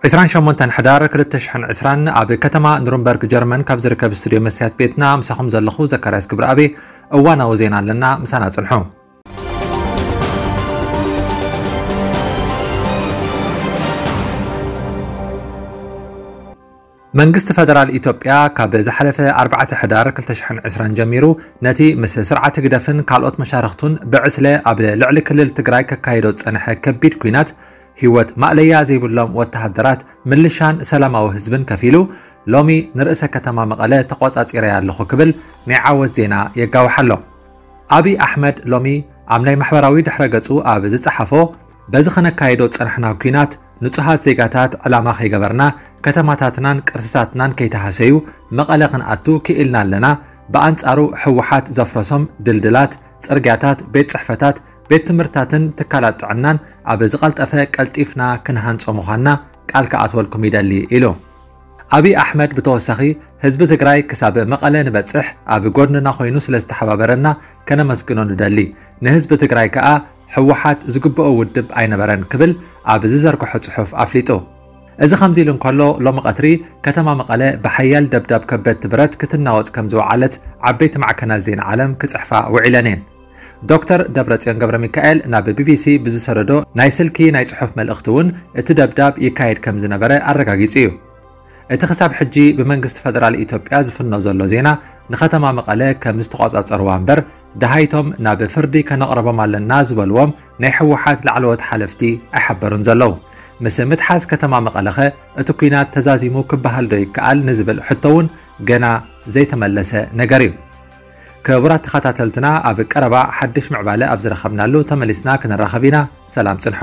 ዕስራን ሸሞንተን ሕዳር ክልተ ሽሕን ዕስራን ኣብ ከተማ ኑርንበርግ ጀርመን ካብ ዝርከብ ስቱድዮ መስትያት ቤትና ምሳኹም ዘለኹ ዘካርያስ ግብረኣብ። እዋናዊ ዜና ኣለና፣ ምሳና ጽንሑ። መንግስቲ ፈደራል ኢትዮጵያ ካብ ዝሓለፈ ኣርባዕተ ሕዳር ክልተ ሽሕን ዕስራን ጀሚሩ ነቲ ምስ ስርዓት ህግደፍን ካልኦት መሻርኽቱን ብዕስለ ኣብ ልዕሊ ክልል ትግራይ ከካይዶ ዝጸንሐ ከቢድ ኲናት ህይወት ማእለያ ዘይብሎም ወተሃደራት፣ ምልሻን ሰላማዊ ህዝብን ከፊሉ ሎሚ ንርእሰ ከተማ መቐለ ተቖጻጺረያ ኣለኹ ክብል ናይ ዓወት ዜና የጋውሕ ኣሎ። ኣብይ ኣሕመድ ሎሚ ኣብ ናይ ማሕበራዊ ድሕረ ገጹ ኣብ ዝጸሓፎ፣ በዚ ከነካይዶ ዝጸናሕና ኲናት ንጹሃት ዜጋታት ዕላማ ከይገበርና፣ ከተማታትናን ቅርስታትናን ከይተሃሰዩ መቐለ ክንኣቱ ክኢልና ኣለና። ብኣንጻሩ ህወሓት ዘፍረሶም ድልድላት፣ ጽርግያታት፣ ቤት ጽሕፈታት፣ ቤት ትምህርትታትን ትካላት ጥዕናን ኣብ ዝቐልጠፈ ቀልጢፍና ክንሃንጾ ምዃንና ቃል ክኣትወልኩም ይደሊ ኢሉ። ኣብይ ኣሕመድ ብተወሳኺ ህዝቢ ትግራይ ክሳብ መቐለ ንበጽሕ ኣብ ጎድንና ኮይኑ ስለ ዝተሓባበረና ከነመስግኖ ንደሊ። ንህዝቢ ትግራይ ከኣ ህወሓት ዝግብኦ ውድብ ኣይነበረን ክብል ኣብ ዝዘርግሖ ጽሑፍ ኣፍሊጡ። እዚ ከምዚ ኢሉ እንከሎ ሎሚ ቀትሪ ከተማ መቐለ ብሓያል ደብዳብ ከበድቲ ብረት ክትናወጽ ከም ዝወዓለት ዓበይቲ ማዕከናት ዜና ዓለም ክጽሕፋ ውዒለን እየን። ዶክተር ደብረጽዮን ገብረ ሚካኤል ናብ ቢቢሲ ብዝሰደዶ ናይ ስልኪ ናይ ጽሑፍ መልእኽቲ እውን እቲ ደብዳብ ይካየድ ከም ዝነበረ ኣረጋጊጹ እዩ። እቲ ክሳብ ሕጂ ብመንግስቲ ፈደራል ኢትዮጵያ ዝፍኖ ዘሎ ዜና ንከተማ መቐለ ከም ዝተቖጻጸርዋ እምበር፣ ደሃይቶም ናብ ፍርዲ ከነቕርቦም ኣለና ዝበልዎም ናይ ህወሓት ላዕለዎት ሓለፍቲ ኣይሓበሩን ዘለዉ። ምስ ምትሓዝ ከተማ መቐለኸ እቲ ኲናት ተዛዚሙ ክበሃል ዶ ይከኣል ንዝብል ሕቶ እውን ገና ዘይተመለሰ ነገር እዩ። ክቡራት ተኸታተልትና፣ ኣብ ቀረባ ሓድሽ ምዕባለ ኣብ ዝረኸብናሉ ተመሊስና ክንራኸብ ኢና። ሰላም ጽንሑ።